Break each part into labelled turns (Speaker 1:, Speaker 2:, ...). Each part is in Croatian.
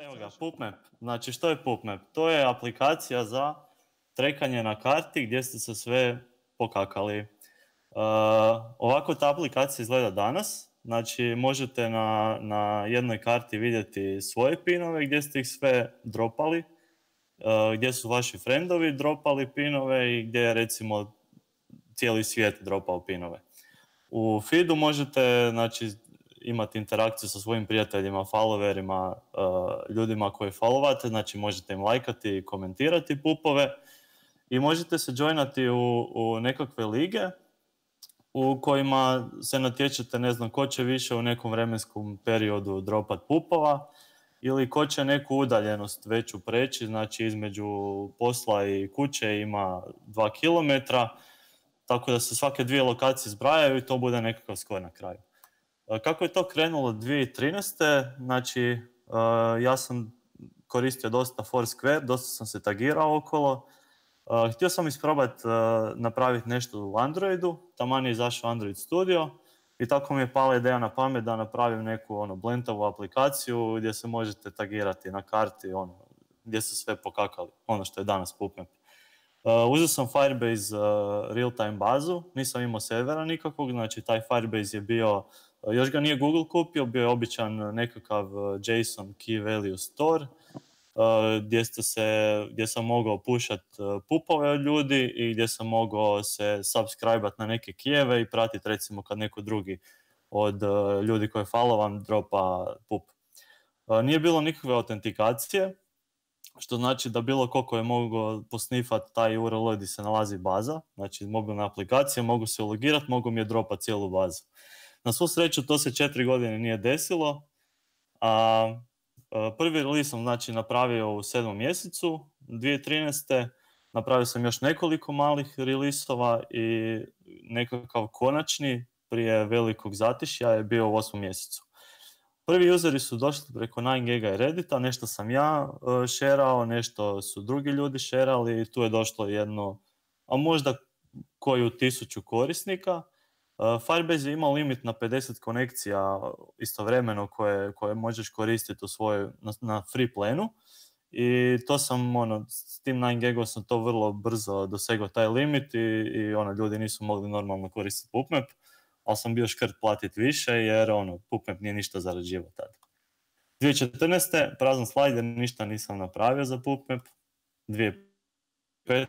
Speaker 1: Evo ga, PubMap. Znači, što je PubMap? To je aplikacija za trekanje na karti gdje ste se sve pokakali. Ovako ta aplikacija izgleda danas. Znači, možete na jednoj karti vidjeti svoje pinove gdje ste ih sve dropali, gdje su vaši friendovi dropali pinove i gdje je recimo cijeli svijet dropao pinove. U feedu možete, znači, imati interakciju sa svojim prijateljima, followerima, ljudima koje followate, znači možete im lajkati i komentirati pupove i možete se joinati u nekakve lige u kojima se natječete, ne znam, ko će više u nekom vremenskom periodu dropat pupova ili ko će neku udaljenost veću preći, znači između posla i kuće ima 2 km, tako da se svake dvije lokacije zbrajaju i to bude nekakav skor na kraju. Kako je to krenulo 2013. Znači, ja sam koristio dosta Foursquare, dosta sam se tagirao okolo. Htio sam isprobati napraviti nešto u Androidu, taman je izašao Android Studio i tako mi je pala ideja na pamet da napravim neku blentavu aplikaciju gdje se možete tagirati na karti, gdje se sve pokakali, ono što je danas PubMap. Uzeo sam Firebase real-time bazu, nisam imao servera nikakvog, znači taj Firebase je bio, još ga nije Google kupio, bio je običan nekakav JSON key value store, gdje sam mogao pušat pupove od ljudi i gdje sam mogao se subscribe-at na neke kijeve i pratiti recimo kad neko drugi od ljudi koje followan dropa pup. Nije bilo nikakve autentikacije, što znači da bilo ko je mogao posnifati taj URL gdje se nalazi baza, znači mobilna aplikacija, mogu se ulogirati, mogu mi je dropati cijelu bazu. Na svu sreću to se 4 godine nije desilo, a prvi release sam znači napravio u 7. mjesecu 2013. Napravio sam još nekoliko malih release-ova i nekakav konačni prije velikog zatišja je bio u 8. mjesecu. Prvi useri su došli preko 9gag i Reddita, nešto sam ja šerao, nešto su drugi ljudi šerali i tu je došlo jedno, a možda koju 1000 korisnika. Firebase je imao limit na 50 konekcija istovremeno koje možeš koristiti na free planu i to sam, s tim 9gagom sam to vrlo brzo dosegao taj limit i ljudi nisu mogli normalno koristiti PubMap, ali sam bio škrt platiti više jer PubMap nije ništa zarađivao tada. 2014. prazan slajd jer ništa nisam napravio za PubMap. 2015.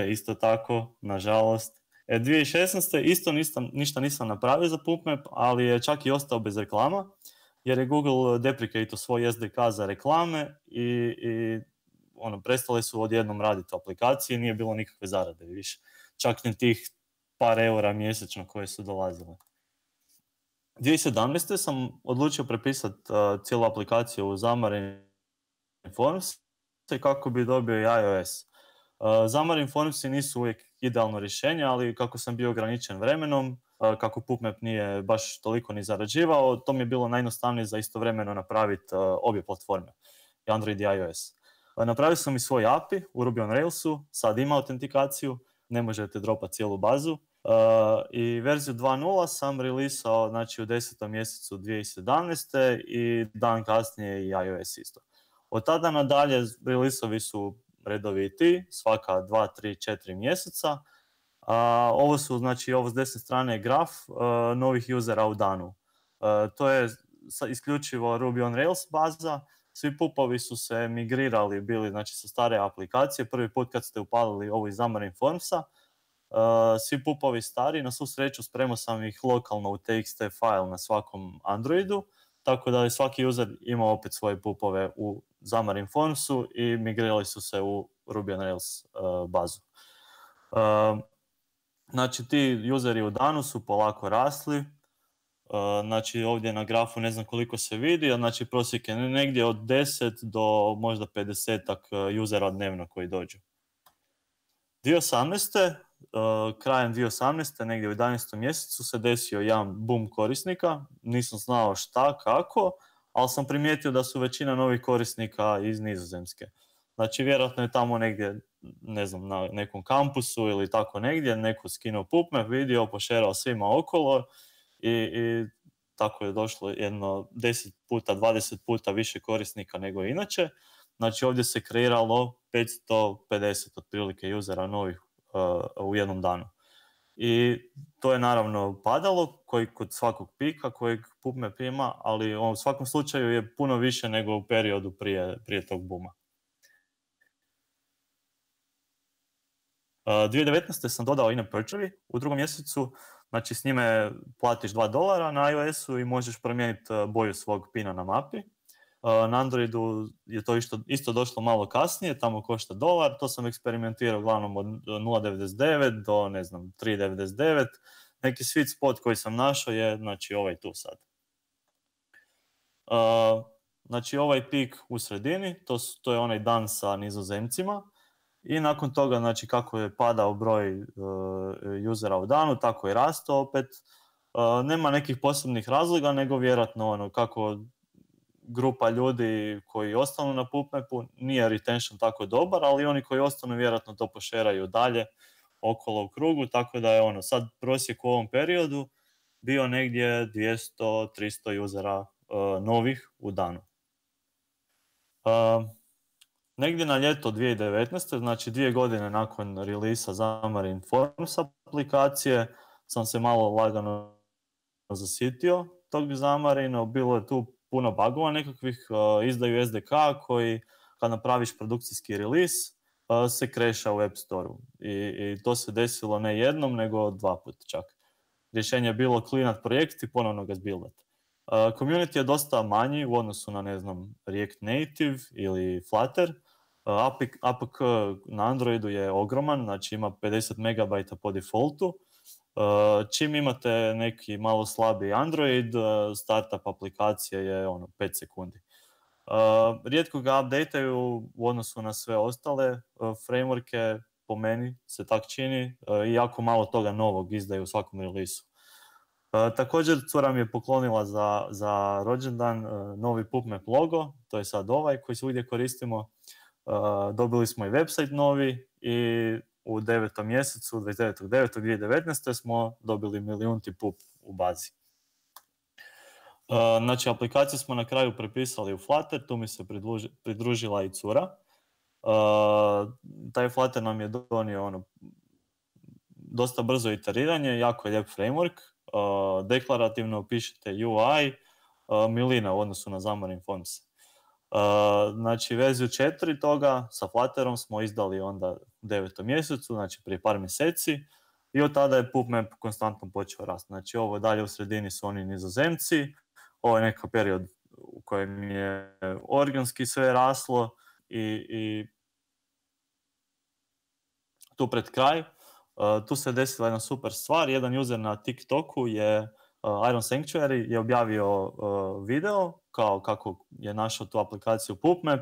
Speaker 1: isto tako, nažalost. 2016. isto ništa nisam napravio za PubMap, ali je čak i ostao bez reklama, jer je Google deprecatao svoj SDK za reklame i prestale su odjednom raditi aplikacije, nije bilo nikakve zarade više. Čak ni tih par eura mjesečno koje su dolazile. 2017. sam odlučio prepisati cijelu aplikaciju u Xamarin Forms kako bi dobio i iOS. Xamarin Formsi nisu uvijek idealno rješenje, ali kako sam bio ograničen vremenom, kako PubMap nije baš toliko ni zarađivao, to mi je bilo najjednostavnije za istovremeno napraviti obje platforme, i Android i iOS. Napravio sam i svoj API u Ruby on Railsu, sad ima autentikaciju, ne možete dropati cijelu bazu. I verziju 2.0 sam releasao znači, u 10. mjesecu 2017. i dan kasnije i iOS isto. Od tada nadalje releasovi su redoviti, svaka 2, 3, 4 mjeseca. Ovo su, znači, ovo s desne strane je graf novih usera u danu. To je isključivo Ruby on Rails baza. Svi pupovi su se migrirali, bili znači, sa stare aplikacije. Prvi put kad ste upalili ovo iz Xamarin Formsa, svi pupovi stari, na svu sreću spremao sam ih lokalno u TXT file na svakom Androidu, tako da je svaki user imao opet svoje pupove u Xamarin Formsu i migrirali su se u Ruby on Rails bazu. Znači ti useri u danu su polako rasli, znači ovdje na grafu ne znam koliko se vidi, znači prosjek je negdje od 10 do možda 50 usera dnevno koji dođu. 2018. Krajem 2018. negdje u 11. mjesecu se desio jedan boom korisnika, nisam znao šta, kako, ali sam primijetio da su većina novih korisnika iz Nizozemske. Znači vjerojatno je tamo negdje, ne znam, na nekom kampusu ili tako negdje, neko skinuo PubMap, vidio, pošerao svima okolo i tako je došlo jedno 10 puta, 20 puta više korisnika nego inače. Znači ovdje se kreiralo 550 otprilike usera novih u jednom danu. I to je naravno padalo, koji kod svakog pika kojeg PubMap ima, ali u svakom slučaju je puno više nego u periodu prije tog booma. 2019. sam dodao in-app purchase u drugom mjesecu, znači s njime platiš $2 na iOS-u i možeš promijeniti boju svog pina na mapi. Na Androidu je to isto došlo malo kasnije, tamo košta $1, to sam eksperimentirao uglavnom od 0.99 do, ne znam, 3.99. Neki sweet spot koji sam našao je, znači, ovaj tu sad. Znači, ovaj pik u sredini, to je onaj dan sa Nizozemcima. I nakon toga, znači, kako je padao broj usera u danu, tako je rastao opet. Nema nekih posebnih razloga, nego vjerojatno ono, kako grupa ljudi koji ostanu na PubMapu, nije retention tako dobar, ali oni koji ostanu vjerojatno to pošeraju dalje okolo u krugu, tako da je ono, sad prosjek u ovom periodu bio negdje 200-300 usera novih u danu. Negdje na ljeto 2019. znači 2 godine nakon relisa Xamarin Forms aplikacije, sam se malo lagano zasitio tog Xamarina. Bilo je tu puno bugova nekakvih, izdaju SDK koji kad napraviš produkcijski release se kreša u App Store-u. I to se desilo ne jednom, nego 2 puta čak. Rješenje je bilo cleanat projekt i ponovno ga zbuildat. Community je dosta manji u odnosu na, ne znam, React Native ili Flutter. APK na Androidu je ogroman, znači ima 50 MB po defaultu. Čim imate neki malo slabiji Android, startup aplikacije je 5 sekundi. Rijetko ga updateaju u odnosu na sve ostale frameworke, po meni se tak čini, i jako malo toga novog izdaju u svakom release-u. Također cura mi je poklonila za rođendan novi PubMap logo, to je sad ovaj koji svugdje koristimo. Dobili smo i website novi i u 9. mjesecu, 29.9.2019. smo dobili 1.000.000 pub u bazi. Znači, aplikaciju smo na kraju prepisali u Flutter, tu mi se pridružila i cura. Taj Flutter nam je donio dosta brzo iteriranje, jako je lijep framework. Deklarativno pišete UI, milina u odnosu na Xamarin Forms. Znači, verziju 4 toga sa Flutterom smo izdali onda u 9. mjesecu, znači prije par mjeseci, i od tada je PubMap konstantno počeo rasti. Znači, ovo dalje u sredini su oni Nizozemci, ovo je neki period u kojem je organski sve raslo i tu pred kraj, tu se desila jedna super stvar. Jedan user na TikToku je Iron Sanctuary je objavio video kao kako je našao tu aplikaciju PubMap.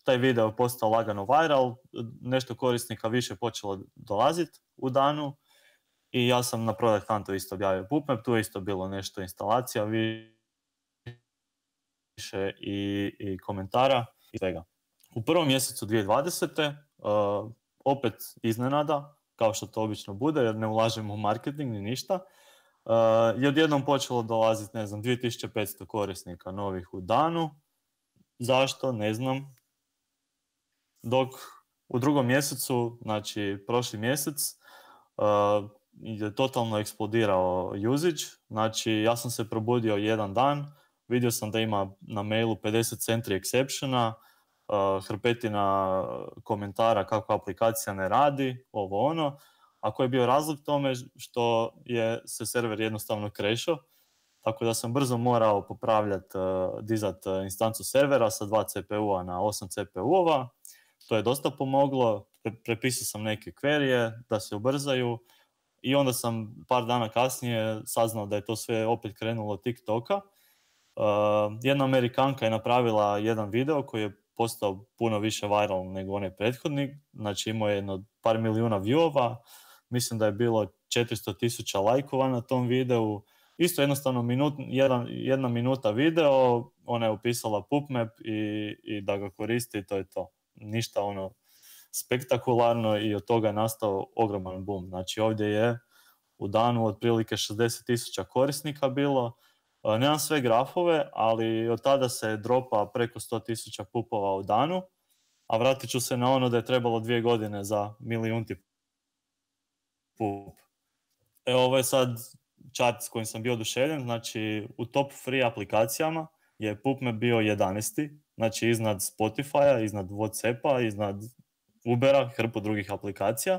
Speaker 1: Taj video je postao lagano viral, nešto korisnika više počelo dolaziti u danu i ja sam na Product Huntu isto objavio PubMap, tu je isto bilo nešto instalacija, više i komentara i svega. U prvom mjesecu 2020. Opet iznenada, kao što to obično bude, jer ne ulažemo u marketing ni ništa, je odjednom počelo dolaziti, ne znam, 2500 korisnika novih u danu. Zašto? Ne znam. Dok u drugom mjesecu, znači prošli mjesec, je totalno eksplodirao usage. Znači, ja sam se probudio jedan dan, vidio sam da ima na mailu 50 centri exceptiona, hrpetina komentara kako aplikacija ne radi, ovo ono. A koji je bio razlog tome što se server jednostavno crashao, tako da sam brzo morao popravljati, dizati instancu servera sa 2 CPU-a na 8 CPU-ova. To je dosta pomoglo, prepisao sam neke queryje da se ubrzaju i onda sam par dana kasnije saznao da je to sve opet krenulo od TikToka. Jedna Amerikanka je napravila jedan video koji je postao puno više viral nego onaj prethodnik, znači imao je jedno par milijuna viewova, mislim da je bilo 400,000 lajkova na tom videu, isto jednostavno jedna minuta video, ona je upisala PubMap i da ga koristi i to je to. Ništa spektakularno i od toga je nastao ogroman boom. Znači ovdje je u danu, otprilike 60.000 korisnika bilo. Nemam sve grafove, ali od tada se dropa preko 100.000 pupova u danu, a vratit ću se na ono da je trebalo 2 godine za milijunti pup. Ovo je sad chart s kojim sam bio oduševljen, znači u top free aplikacijama je PubMap bio 11. Znači iznad Spotify-a, iznad Whatsappa, iznad Ubera, hrpu drugih aplikacija.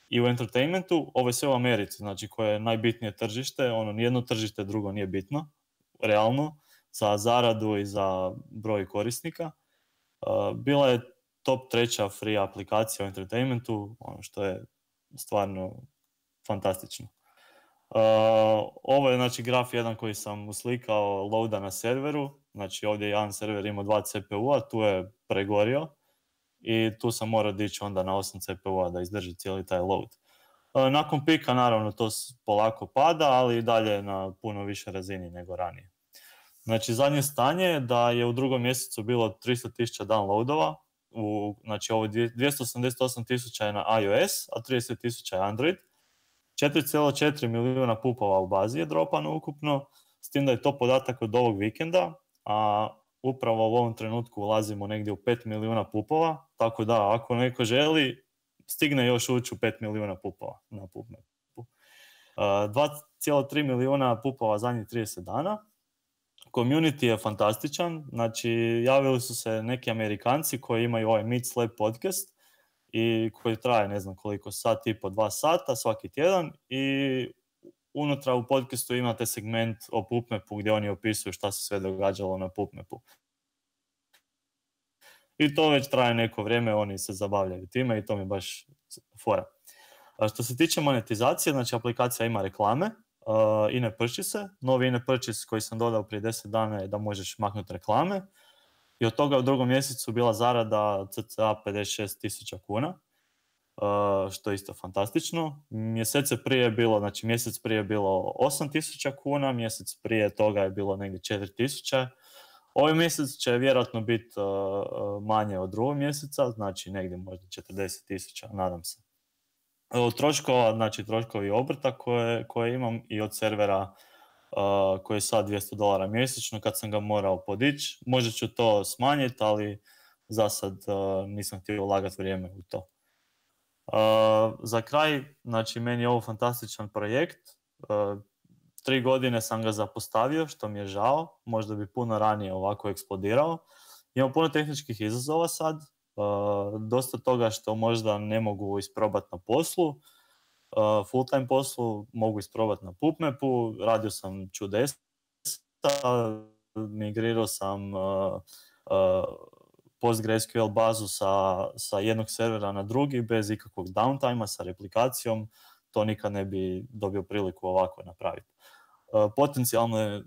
Speaker 1: I u entertainmentu, ovo je sve u Americi, znači koje je najbitnije tržište, nijedno tržište drugo nije bitno, realno, za zaradu i za broj korisnika. Bila je top 3. free aplikacija u entertainmentu, što je stvarno fantastično. Ovo je znači graf jedan koji sam uslikao loada na serveru, znači ovdje jedan server ima 2 CPU-a, tu je pregorio i tu sam morao dići onda na 8 CPU-a da izdrži cijeli taj load. Nakon pika naravno to polako pada, ali i dalje na puno više razini nego ranije. Znači zadnje stanje je da je u 2. mjesecu bilo 300.000 downloadova, znači ovo 288.000 je na iOS, a 30.000 je Android. 4,4 milijuna pupova u bazi je dropano ukupno, s tim da je to podatak od ovog vikenda, a upravo u ovom trenutku ulazimo negdje u 5 milijuna pupova, tako da ako neko želi, stigne još ući u 5 milijuna pupova na PubMapu. 2,3 milijuna pupova zadnjih 30 dana. Community je fantastičan, znači javili su se neki Amerikanci koji imaju ovaj Meet Slap podcast i koji traje ne znam koliko, 1,5-2 sata svaki tjedan i unutra u podcastu imate segment o PubMapu gdje oni opisuju šta se sve događalo na PubMapu. I to već traje neko vrijeme, oni se zabavljaju time i to mi baš fora. Što se tiče monetizacije, znači aplikacija ima reklame, in-app purchase, novi in-app purchase koji sam dodao prije 10 dana je da možeš maknuti reklame i od toga u 2. mjesecu bila zarada cca 56.000 kuna, što je isto fantastično. Mjesec prije je bilo 8.000 kuna, mjesec prije toga je bilo negdje 4.000. Ovaj mjesec će vjerojatno biti manje od 2. mjeseca, znači negdje možda 40.000, nadam se. Od troškova, znači troškovi obrta koje imam i od servera koji je sad $200 mjesečno, kad sam ga morao podići. Možda ću to smanjiti, ali za sad nisam htio ulagati vrijeme u to. Za kraj, znači meni je ovo fantastičan projekt. 3 godine sam ga zapostavio, što mi je žao. Možda bi puno ranije ovako eksplodirao. Imam puno tehničkih izazova sad. Dosta toga što možda ne mogu isprobati na poslu. Full time poslu mogu isprobati na PubMapu. Radio sam čudesa. Migrirao sam PostgreSQL bazu sa jednog servera na drugi bez ikakvog downtime sa replikacijom. To nikad ne bi dobio priliku ovako napraviti. Potencijalno je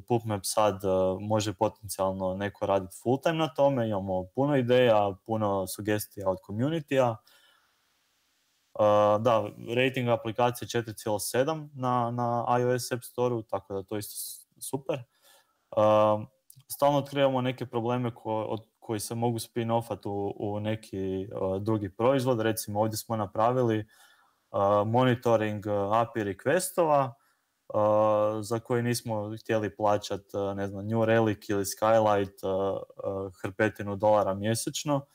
Speaker 1: PubMap sad može potencijalno neko raditi full time na tome, imamo puno ideja, puno sugestija od community-a. Da, rating aplikacije 4,7 na iOS App Store-u, tako da to isto super. Stalno otkrivamo neke probleme koji se mogu spin-offati u neki drugi proizvod. Recimo ovdje smo napravili monitoring API requestova, za koje nismo htjeli plaćati, ne znam, New Relic ili Skylight hrpetinu dolara mjesečno,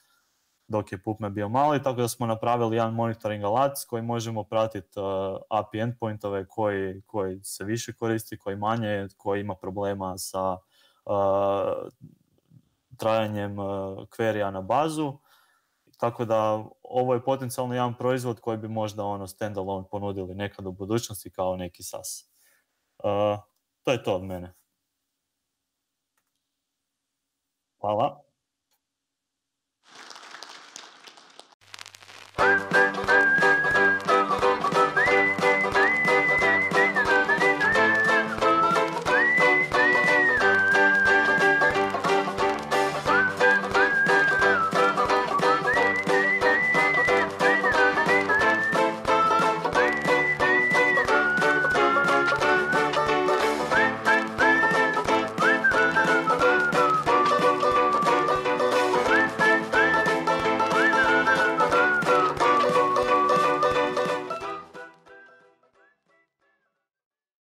Speaker 1: dok je PubMap bio mali, tako da smo napravili jedan monitoring alat s kojim možemo pratiti API endpointove koji se više koristi, koji manje, koji ima problema sa trajanjem query-a na bazu. Tako da ovo je potencijalno jedan proizvod koji bi možda standalone ponudili nekad u budućnosti kao neki SaaS. To je to od mene. Hvala.